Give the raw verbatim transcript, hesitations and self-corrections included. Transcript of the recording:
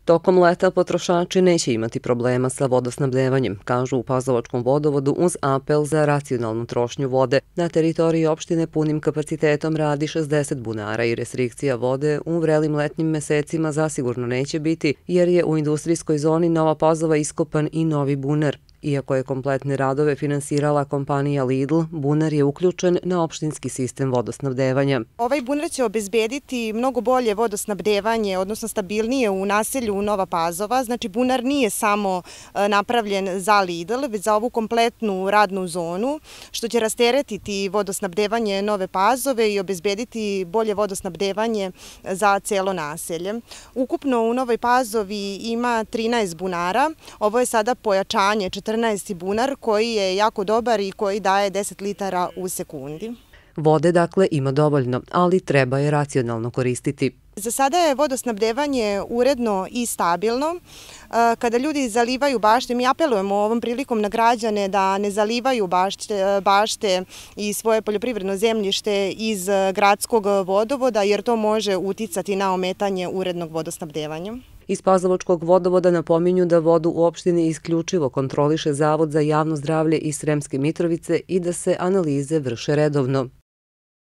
Tokom leta potrošači neće imati problema sa vodosnabdevanjem, kažu u Pazovačkom vodovodu uz apel za racionalnu trošnju vode. Na teritoriji opštine punim kapacitetom radi šezdeset bunara i restrikcija vode u vrelim letnjim mesecima zasigurno neće biti, jer je u industrijskoj zoni Nova Pazova iskopan i novi bunar. Iako je kompletne radove finansirala kompanija Lidl, bunar je uključen na opštinski sistem vodosnabdevanja. Ovaj bunar će obezbediti mnogo bolje vodosnabdevanje, odnosno stabilnije u naselju Nova Pazova. Znači, bunar nije samo napravljen za Lidl, već za ovu kompletnu radnu zonu, što će rasteretiti vodosnabdevanje Nove Pazove i obezbediti bolje vodosnabdevanje za celo naselje. Ukupno u Novoj Pazovi ima trinaest bunara. Ovo je sada pojačanje četrnaesti bunar koji je jako dobar i koji daje deset litara u sekundi. Vode dakle ima dovoljno, ali treba je racionalno koristiti. Za sada je vodosnabdevanje uredno i stabilno. Kada ljudi zalivaju bašte, mi apelujemo ovom prilikom na građane da ne zalivaju bašte, bašte i svoje poljoprivredno zemljište iz gradskog vodovoda, jer to može uticati na ometanje urednog vodosnabdevanja. Iz Pazovačkog vodovoda napominju da vodu u opštini isključivo kontroliše Zavod za javno zdravlje iz Sremske Mitrovice i da se analize vrše redovno.